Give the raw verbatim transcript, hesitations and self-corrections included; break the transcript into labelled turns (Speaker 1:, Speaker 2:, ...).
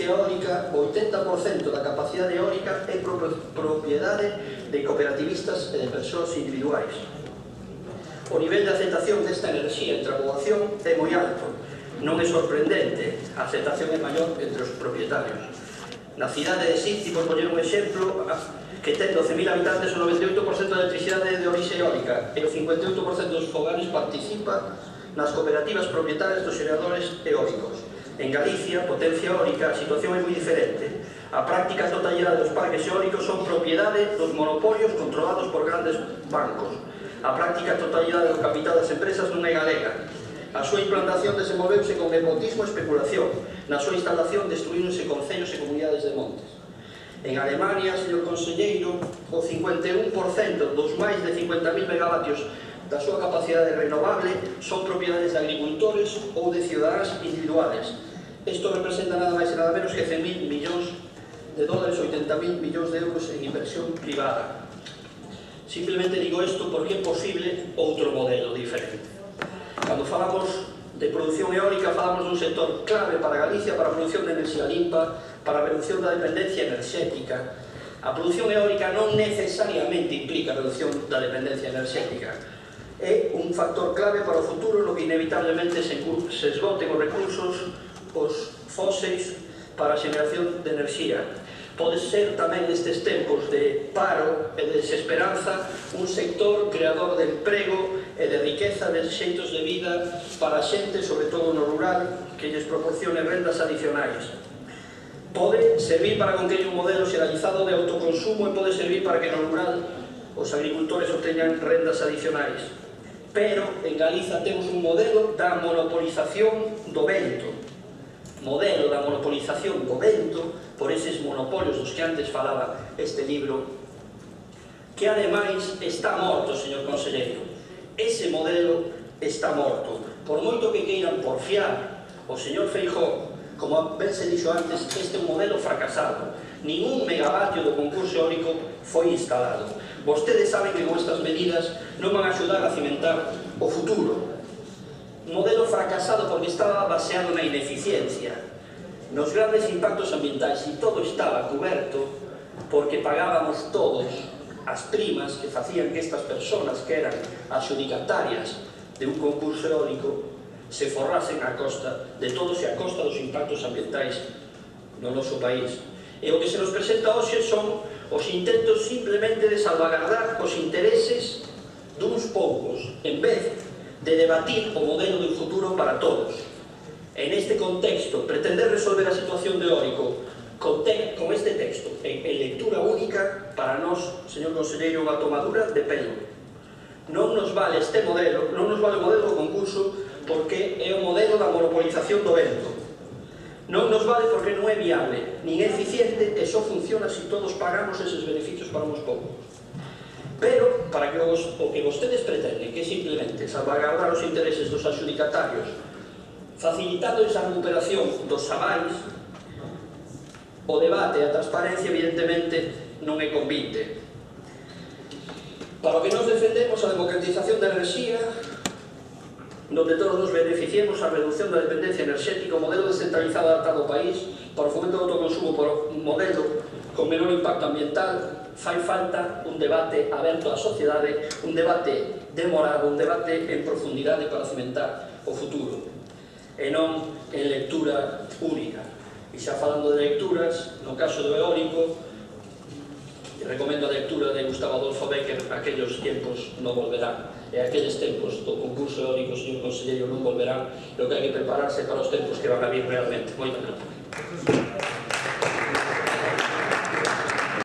Speaker 1: potencia eólica, o oitenta por cento da capacidade eólica é propiedade de cooperativistas e de persoas individuais. O nivel de aceptación desta enerxía entre a poboación é moi alto. Non é sorprendente, a aceptación é maior entre os propietarios. Na cidade de Sitges, por poñer un exemplo, que ten doce mil habitantes, o noventa e oito por cento da electricidade é de orixe eólica e o cincuenta e oito por cento dos fogares participa nas cooperativas propietarias dos xeradores eólicos. En Galicia, potencia eólica, a situación é moi diferente. A práctica totalidade dos parques eólicos son propiedade dos monopolios controlados por grandes bancos. A práctica totalidade do capital das empresas non é galega. A súa implantación desenvolveuse con nepotismo e especulación. Na súa instalación destruíronse concellos e comunidades de montes. En Alemania, señor conselleiro, o cincuenta e un por cento dos máis de cincuenta mil megavatios da súa capacidade renovable son propiedades de agricultores ou de cidadáns individuales. Isto representa nada máis e nada menos que cen mil millóns de dólares, oitenta mil millóns de euros en inversión privada. Simplemente digo isto porque é posible outro modelo diferente. Cando falamos de produción eólica, falamos dun sector clave para Galicia, para a produción de enerxía limpa, para a reducción da dependencia enerxética. A produción eólica non necesariamente implica a reducción da dependencia enerxética. É un factor clave para o futuro no que inevitablemente se esgoten os recursos, os fóseis, para a xeneración de enerxía. Pode ser tamén nestes tempos de paro e de desesperanza un sector creador de emprego e de riqueza de xeitos de vida para a xente, sobre todo no rural, que lles proporcione rendas adicionais. Pode servir para conquerir un modelo xeralizado de autoconsumo e pode servir para que no rural os agricultores obteñan rendas adicionais. Pero en Galiza temos un modelo da monopolización do vento. Modelo da monopolización do vento por eses monopolios dos que antes falaba este libro, que ademais está morto, señor conselleiro. Ese modelo está morto. Por moito que queiran porfiar o señor Feijóo, como ben se dixo antes, este é un modelo fracasado. Ningún megavatio do concurso eólico foi instalado. Vostedes saben que con estas medidas non van a axudar a cimentar o futuro. Un modelo fracasado porque estaba baseado na ineficiencia, nos grandes impactos ambientais, e todo estaba cuberto porque pagábamos todos as primas que facían que estas persoas que eran adxudicatarias de un concurso eólico se forrasen a costa de todos e a costa dos impactos ambientais no noso país. E o que se nos presenta hoxe son os intentos simplemente de salvagardar os intereses duns poucos, en vez de debatir o modelo de futuro para todos. En este contexto, pretender resolver a situación de eólico con, te, con este texto en, en lectura única, para nós, señor conselleiro, unha tomadura de pelo. Non nos vale este modelo, non nos vale o modelo do concurso porque é o modelo da monopolización do vento. Non nos vale porque non é viable, nin é eficiente e só funciona se todos pagamos eses beneficios para uns poucos. Pero, para que os, o que vostedes pretenden, que é simplemente salvagardar os intereses dos adxudicatarios, facilitando esa recuperación dos avais, o debate e a transparencia, evidentemente, non é convite. Para o que nos defendemos a democratización da enerxía, donde todos nos beneficiemos a reducción da dependencia enerxética, o modelo descentralizado adaptado ao país, para o fomento do autoconsumo, por un modelo con menor impacto ambiental, fai falta un debate aberto á sociedade, un debate demorado, un debate en profundidade para cimentar o futuro, e non en lectura única. E xa falando de lecturas, no caso do eólico, recomendo a lectura de Gustavo Adolfo Bécquer, Aquellos tiempos non volverán. E aqueles tempos do concurso eólico, señor conselleiro, non volverán, e o que hai que prepararse para os tempos que van a vir realmente. Moitas gracias.